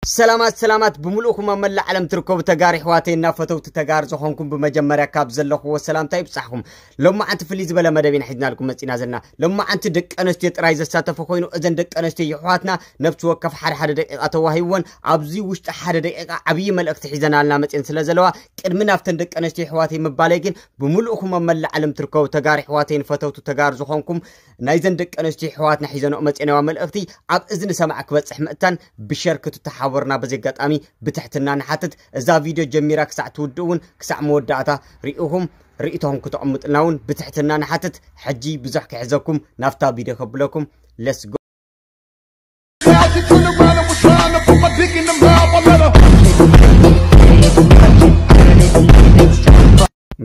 ሰላማት ሰላማት ብምልእኹም ኣብ መላእ ዓለም ትርከቡ ተጋሩ ኣሕዋተይ እና ፈተውቲ ተጋሩ ዝኾንኩም፣ ብመጀመርያ ካብ ዘለኹዎ ሰላምታ ይብጻሕኩም። ሎማዓንቲ ፍልይ ዝበለ መደብ ኢና ሒዝናልኩም መጺና ዘለና። ሎማዓንቲ ደቂ ኣንስትዮ ጥራይ ዘሳተፈ ኮይኑ፣ እዘን ደቂ ኣንስትዮ የሕዋትና ነብሲ ወከፍ ሓደ ሓደ ደቂቓ ተዋሂብወን፣ ኣብዚ ውሽጢ ሓደ ደቂቓ ዓብዪ መልእኽቲ ሒዘናልና መጺን ስለ ዘለዋ፣ ቅድሚ ናብተን ደቂ ኣንስትዮ የሕዋተይ ምባለይ ግን፣ ብምልእኹም ኣብ መላእ ዓለም ትርከቡ ተጋሩ ኣሕዋተይን ፈተውቲ ተጋሩ ዝኾንኩም፣ ናይዘን ደቂ ኣንስትዮ ኣሕዋትና ሒዘንኦ መጺናዋ መልእኽቲ ኣብ እዝኒ ሰማዕ ክበጽሕ ምእንታን ብሸር ክትተሓወርና በዚ ኣጋጣሚ ብትሕትና ንሓትት። እዛ ቪድዮ ጀሚራ ክሳዕ ትውድእ እውን ክሳዕ መወዳእታ ርኢኹም ርእይቶኹም ክተቐምጡልና እውን ብትሕትና ንሓትት። ሕጂ ብዙሕ ክሕዘኩም ናብታ ቪድዮ ከብለኩም። Let's go።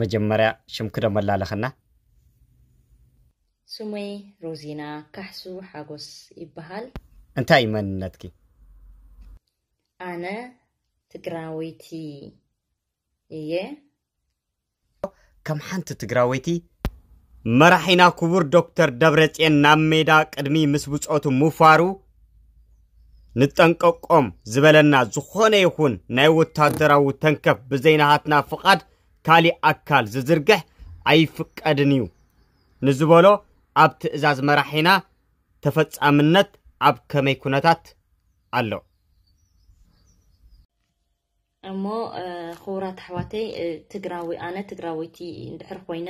መጀመርያ ሽምኪ ዶ መላለኸና? ስመይ ሮዚና ካሕሱ ሓጎስ ይበሃል። እንታይ እዩ መንነትኪ? ኣነ ትግራወይቲ እየ። ከም ሓንቲ ትግራወይቲ፣ መራሒና ክቡር ዶክተር ደብረጽዮን ናብ ሜዳ ቅድሚ ምስ ብጾቱ ምፋሩ፣ ንጠንቀቆም ዝበለና ዝኾነ ይኹን ናይ ወታደራዊ ተንከፍ ብዘይናሃትና ፍቓድ ካሊእ ኣካል ዝዝርግሕ ኣይፍቀድን እዩ ንዝበሎ ኣብ ትእዛዝ መራሒና ተፈጻምነት ኣብ ከመይ ኩነታት ኣሎ? እሞ ክቡራት ኣሕዋተይ፣ ትግራዊ ኣነ ትግራወይቲ እንድሕር ኮይነ፣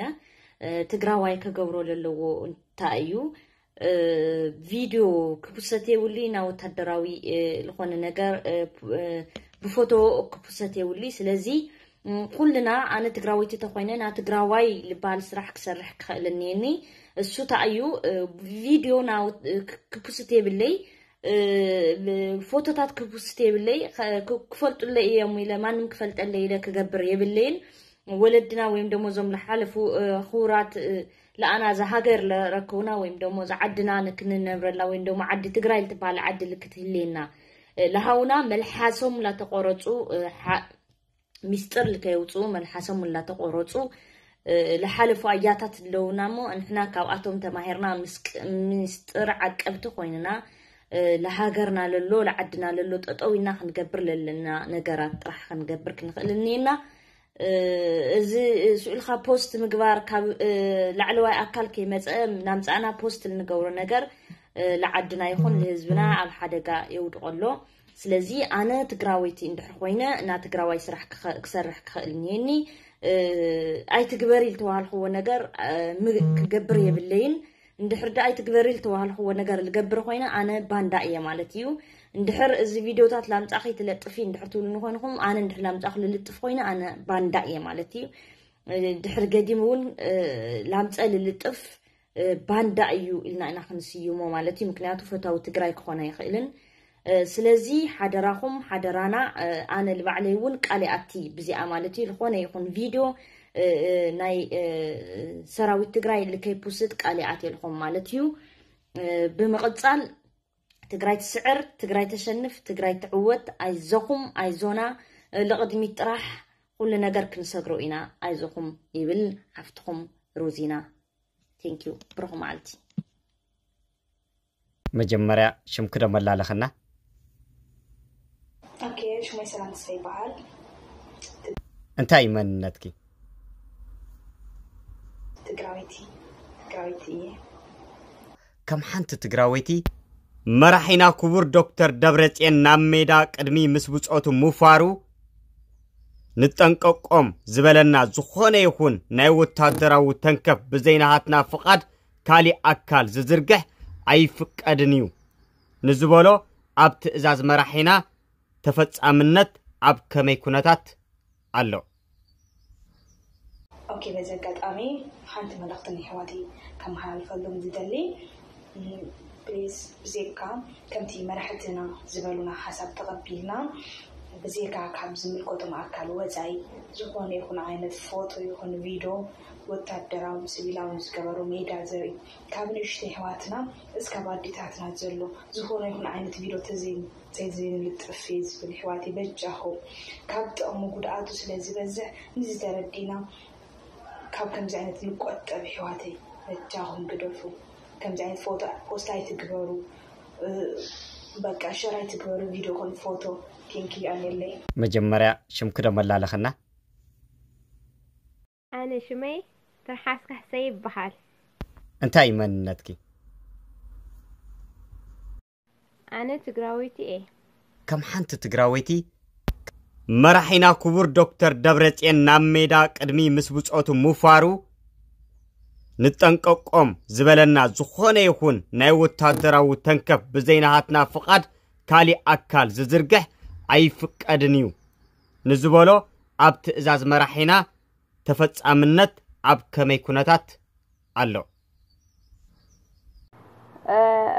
ትግራዋይ ከገብሮ ለለዎ እንታይ እዩ? ቪድዮ ክፕሰት የብሉይ፣ ና ወታደራዊ ዝኾነ ነገር ብፎቶ ክፕሰት የብሉይ። ስለዚ ኩልና ኣነ ትግራወይቲ ተኮይነ ና ትግራዋይ ልበሃል ስራሕ ክሰርሕ ክኽእል እኒኒ። እሱ እንታይ እዩ? ቪድዮ ክፕስት የብለይ፣ ፎቶታት ክፕስት የብለይ፣ ክፈልጡለይ እዮም ኢለ ማንም ክፈልጠለይ ኢለ ክገብር የብለይን። ወለድና ወይም ደሞ እዞም ዝሓለፉ ክቡራት ለኣና እዛ ሃገር ለረከቡና ወይም ደሞ እዛ ዓድና ንክንነብረላ ወይም ደሞ ዓዲ ትግራይ ልትበሃል ዓዲ ልክትህልየና ለሃውና መልሓሶም ላተቆረፁ ሚስጥር ልከየውፅኡ መልሓሶም ላተቆረፁ ለሓለፉ ኣያታት ኣለውና እሞ ንሕና ካብኣቶም ተማሂርና ሚስጥር ዓቀብቲ ኮይንና ለሃገርና ለሎ ለዓድና ለሎ ጠጠው ኢልና ክንገብር ለለና ነገራት ጥራሕ ክንገብር ክንኽእል እኒና። እዚ ስኡልካ ፖስት ምግባር ካብ ላዕለዋይ ኣካል ከይመፀ ናምፃእና ፖስት ልንገብሮ ነገር ለዓድና ይኹን ልህዝብና ኣብ ሓደጋ የውድቆ ኣሎ። ስለዚ ኣነ ትግራወይቲ እንድሕር ኮይነ እና ትግራዋይ ስራሕ ክሰርሕ ክኽእል እኒኒ ኣይትግበሪ ልተዋሃልክዎ ነገር ክገብር የብለይን። እንድሕር ዳ ኣይትግበሪ ልተዋሃልክዎ ነገር ልገብር ኮይነ ኣነ ባንዳ እየ ማለት እዩ። እንድሕር እዚ ቪድዮታት ላምፃኺ ትለጥፊ እንድሕር ትብሉ ንኮይንኩም ኣነ እንድሕር ላምፃኹ ልልጥፍ ኮይነ ኣነ ባንዳ እየ ማለት እዩ። ድሕር ገዲም እውን ላምፀ ልልጥፍ ባንዳ እዩ ኢልና ኢና ክንስይሞ ማለት እዩ። ምክንያቱ ፈታዊ ትግራይ ክኾነ ኣይኽእልን። ስለዚ ሓደራኹም ሓደራና ኣነ ልባዕለይ እውን ቃል ኣቲ ብዚኣ ማለት እዩ ዝኾነ ይኹን ቪድዮ ናይ ሰራዊት ትግራይ ልከይ ፑስት ቃል ኣት የልኹም ማለት እዩ። ብምቕፃል ትግራይ ትስዕር፣ ትግራይ ተሸንፍ፣ ትግራይ ትዕወት። ኣይዞኹም ኣይዞና ልቕድሚት ጥራሕ ኩሉ ነገር ክንሰግሮ ኢና። ኣይዞኹም ይብል ሓፍትኹም ሮዚና። Thank you ብሩኽ መዓልቲ። መጀመርያ ሽምኪ ዶ መላለኸና? ኦኬ ሽመይ ሰላም ተስፋ ይበሃል። እንታይ እዩ መንነትኪ? ትግራወይቲ ትግራወይቲ እየ። ከም ሓንቲ ትግራወይቲ መራሒና ክቡር ዶክተር ደብረፅዮን ናብ ሜዳ ቅድሚ ምስ ብፆቱ ምፋሩ ንጠንቀቆም ዝበለና ዝኾነ ይኹን ናይ ወታደራዊ ተንከፍ ብዘይናሃትና ፍቓድ ካሊእ ኣካል ዝዝርግሕ ኣይፍቀድን እዩ ንዝበሎ ኣብ ትእዛዝ መራሒና ተፈጻምነት ኣብ ከመይ ኩነታት ኣሎ? ኦኬ በዚ ኣጋጣሚ ሓንቲ መልእኽቲ ንኣሕዋተይ ከመሓላልፈሎም ዝደሊ ፕሊስ ብዜካ ከምቲ መራሕትና ዝበሉና ሓሳብ ተቐቢልና ብዜካ ካብ ዝምልከቶም ኣካል ወፃኢ ዝኾነ ይኹን ዓይነት ፎቶ ይኹን ቪድዮ ወታደራውን ስቪላውን ዝገበሩ ሜዳ ዘርኢ ካብ ንእሽተይ ኣሕዋትና እስካብ ኣዴታትና ዘሎ ዝኾነ ይኹን ዓይነት ቪድዮ ተዘይ ተዘይንልጥፍ እየ ዝብል ኣሕዋተይ በጃኹም ካብ ጥቕሙ ጉድኣቱ ስለ ዝበዝሕ ንዚ ተረዲእና ካብ ከምዚ ዓይነት ንቆጠብ ኣሕዋተይ በጃኹም ግደፉ ከምዚ ዓይነት ፎቶ ፖስት ኣይትግበሩ በቃ ሸር ኣይትግበሩ ቪድዮ ኮን ፎቶ። ቴንኪዩ ኣየለይ። መጀመርያ ሽምኪ ዶ መላለኽና? ኣነ ሽመይ ትርሓስ ካሕሰይ ይበሃል። እንታይ መንነትኪ? ኣነ ትግራወይቲ እየ። ከም ሓንቲ ትግራወይቲ መራሒና ክቡር ዶክተር ደብረፅዮን ናብ ሜዳ ቅድሚ ምስ ብፆቱ ምፋሩ ንጠንቀቆም ዝበለና ዝኾነ ይኹን ናይ ወታደራዊ ተንከፍ ብዘይናሃትና ፍቓድ ካሊእ ኣካል ዝዝርግሕ ኣይፍቀድን እዩ ንዝበሎ ኣብ ትእዛዝ መራሒና ተፈጻምነት ኣብ ከመይ ኩነታት ኣሎ?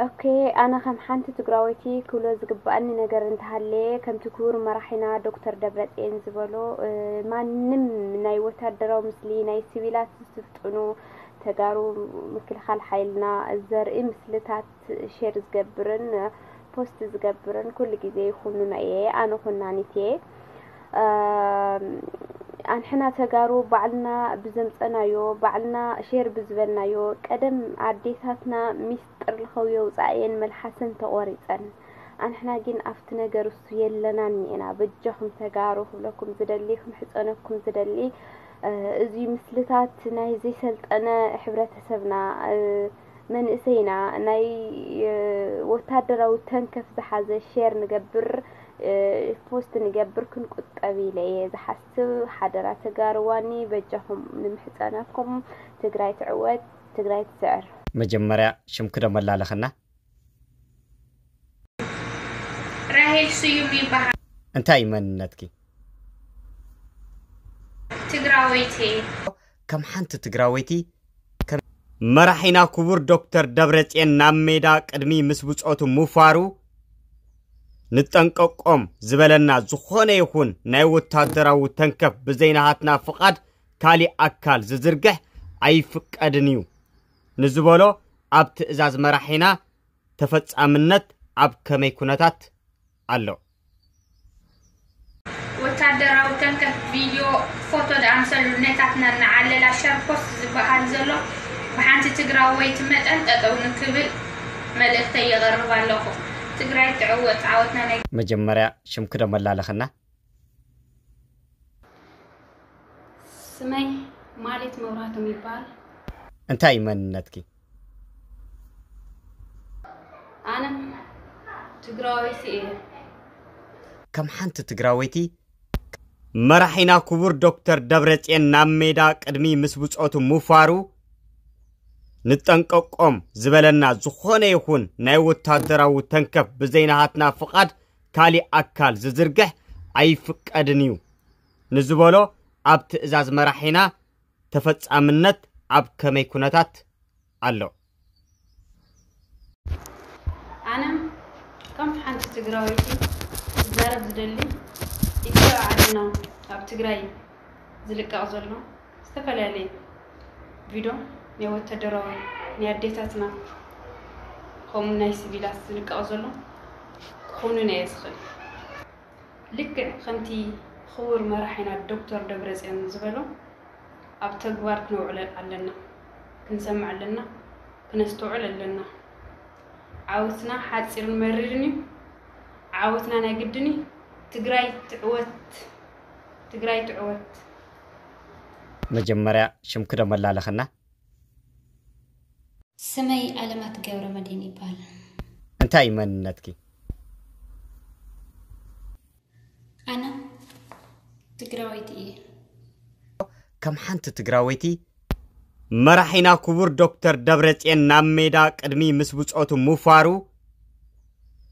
ኦኬ፣ ኣነ ከም ሓንቲ ትግራወይቲ ክብሎ ዝግባኣኒ ነገር እንተሃለየ፣ ከምቲ ክቡር መራሒና ዶክተር ደብረፅዮን ዝበሎ፣ ማንም ናይ ወታደራዊ ምስሊ ናይ ሲቪላት ዝስልጥኑ ተጋሩ ምክልኻል ሓይልና ዘርኢ ምስልታት ሼር ዝገብርን ፖስት ዝገብርን ኩሉ ግዜ ይኹንኖ እየ። ኣነ ኩናኒት እየ። ኣንሕና ተጋሩ ባዕልና ብዘምፀናዮ፣ ባዕልና ሼር ብዝበልናዮ፣ ቀደም ኣዴታትና ሚስጥር ልኸው የውፃእየን መልሓሰን ተቖሪፀን። ኣንሕና ግን ኣብቲ ነገር እሱ የለናን እኒኤና። በጃኹም ተጋሩ ክብለኩም ዝደሊ፣ ክምሕፀነኩም ዝደሊ፣ እዚ ምስልታት ናይ ዘይሰልጠነ ሕብረተሰብና፣ መንእሰይና ናይ ወታደራዊ ተንከፍ ዝሓዘ ሼር ንገብር ፖስት ንገብር ክንቁጠብ ኢለ እየ ዝሓስብ። ሓደራ ተጋርዋኒ በጃኹም ንምሕፀነኩም። ትግራይ ትዕወት፣ ትግራይ ትስዕር። መጀመርያ ሽምኪ ዶ መላለኽና? ራሄል ስዩም ይበሃል። እንታይ እዩ መንነትኪ? ትግራወይቲ። ከም ሓንቲ ትግራወይቲ ከም መራሒና ክቡር ዶክተር ደብረፅዮን ናብ ሜዳ ቅድሚ ምስ ብፆቱ ምፋሩ ንጠንቀቆም ዝበለና ዝኾነ ይኹን ናይ ወታደራዊ ተንከፍ ብዘይናሃትና ፍቓድ ካሊእ ኣካል ዝዝርግሕ ኣይፍቀድን እዩ ንዝበሎ ኣብ ትእዛዝ መራሒና ተፈጻምነት ኣብ ከመይ ኩነታት ኣሎ? ወታደራዊ ተንከፍ ቪድዮ ፎቶ ዝኣምሰሉ ነታትና እናዓለላ ሸር ፖስት ዝበሃል ዘሎ ብሓንቲ ትግራወይቲ መጠን ጠጠው ንክብል መልእክተይ የቕርብ ኣለኹ። ትግራይ ትዕወት። ዓወትና ናይ መጀመርያ ሽምኪ ዶ መላለኽና? ስመይ ማሌት መብራህቶም ይበሃል። እንታይ እዩ መንነትኪ? ኣነ ትግራወይቲ እየ። ከም ሓንቲ ትግራወይቲ መራሒና ክቡር ዶክተር ደብረፅዮን ናብ ሜዳ ቅድሚ ምስ ብፆቱ ምፋሩ ንጠንቀቆም ዝበለና ዝኾነ ይኹን ናይ ወታደራዊ ተንከፍ ብዘይናሃትና ፍቓድ ካሊእ ኣካል ዝዝርግሕ ኣይፍቀድን እዩ ንዝበሎ ኣብ ትእዛዝ መራሒና ተፈጻምነት ኣብ ከመይ ኩነታት ኣሎ? ኣነ ከም ሓንቲ ትግራወይቲ ክዛረብ ዝደሊ ኢትዮ ዓድና ኣብ ትግራይ ዝልቀቕ ዘሎ ዝተፈላለየ ቪድዮ ናይ ወታደራዊ ናይ ኣዴታትና ከምኡ ናይ ሲቪላት ዝልቀቕ ዘሎ ክኾኑን እየ ዝኽእል። ልክዕ ከምቲ ክቡር መራሒና ዶክተር ደብረፅዮን ዝበሎ ኣብ ተግባር ክነውዕሎ ኣለና፣ ክንሰምዕ ኣለና፣ ክነስተውዕል ኣለና። ዓወትና ሓፂርን መሪርን እዩ። ዓወትና ናይ ግድን እዩ። ትግራይ ትዕወት፣ ትግራይ ትዕወት። መጀመርያ ሽምኪ ዶ መላለኽና? ስመይ ኣለማት ገብረመድህን ይበሃል። እንታይ እዩ መንነትኪ? ኣነ ትግራወይቲ እየ። ከም ሓንቲ ትግራወይቲ መራሒና ክቡር ዶክተር ደብረፅዮን ናብ ሜዳ ቅድሚ ምስ ብፆቱ ምፋሩ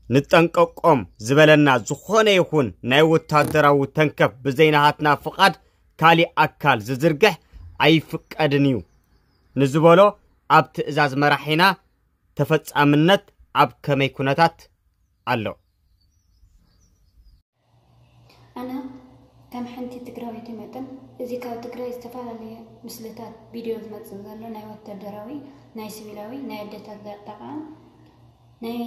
ንጠንቀቆም ዝበለና ዝኾነ ይኹን ናይ ወታደራዊ ተንከፍ ብዘይናሃትና ፍቓድ ካሊእ ኣካል ዝዝርግሕ ኣይፍቀድን እዩ ንዝበሎ ኣብ ትእዛዝ መራሒና ተፈጻምነት ኣብ ከመይ ኩነታት ኣሎ? ኣነ ከም ሓንቲ ትግራወይቲ መጠን እዚ ካብ ትግራይ ዝተፈላለየ ምስልታት ቪድዮ ዝመፅእ ዘሎ ናይ ወታደራዊ ናይ ሲቪላዊ ናይ ኣደታት ዘጠቓ ናይ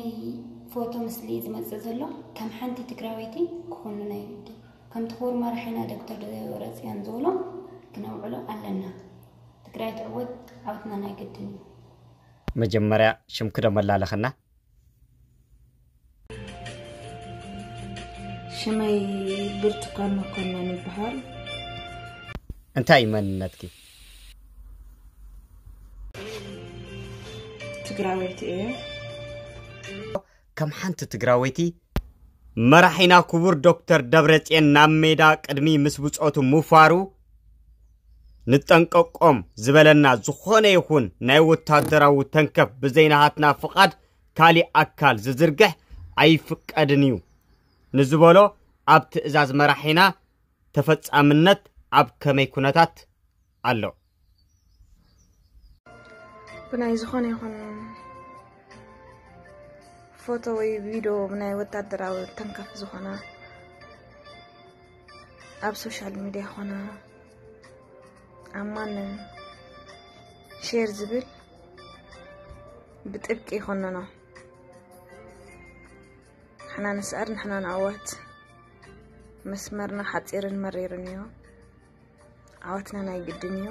ፎቶ ምስሊ ዝመፅእ ዘሎ ከም ሓንቲ ትግራወይቲ ክኾኑ ናይ ግዲ ከምቲ ክቡር መራሒና ዶክተር ደብረፅዮን ዝብሎ ክነውዕሎ ኣለና። ትግራይ ትዕወት፣ ዓወትና ናይ ግድን እዩ። መጀመርያ ሽምኪ ዶ መላለኽና? ሽመይ ብርቱካን መኮነን ይበሃል። እንታይ መንነትኪ? ትግራወይቲ እየ። ከም ሓንቲ ትግራወይቲ መራሒና ክቡር ዶክተር ደብረጽዮን ናብ ሜዳ ቅድሚ ምስ ብጾቱ ምፋሩ ንጠንቀቆም ዝበለና ዝኾነ ይኹን ናይ ወታደራዊ ተንከፍ ብዘይናሃትና ፍቓድ ካሊእ ኣካል ዝዝርግሕ ኣይፍቀድን እዩ ንዝበሎ ኣብ ትእዛዝ መራሒና ተፈጻምነት ኣብ ከመይ ኩነታት ኣሎ? ብናይ ዝኾነ ይኹን ፎቶ ወይ ቪድዮ ብናይ ወታደራዊ ተንከፍ ዝኾነ ኣብ ሶሻል ሚድያ ኾነ ኣብ ማንም ሼር ዝብል ብጥብቂ ይኾንኖ። ንሕና ንስዕር፣ ንሕና ንዕወት። መስመርና ሓፂርን መሪርን እዩ። ዓወትና ናይ ግድን እዩ።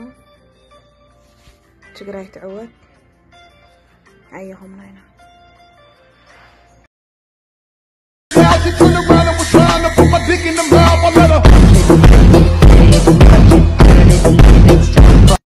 ትግራይ ትዕወት። ኣየኹምና ኢና።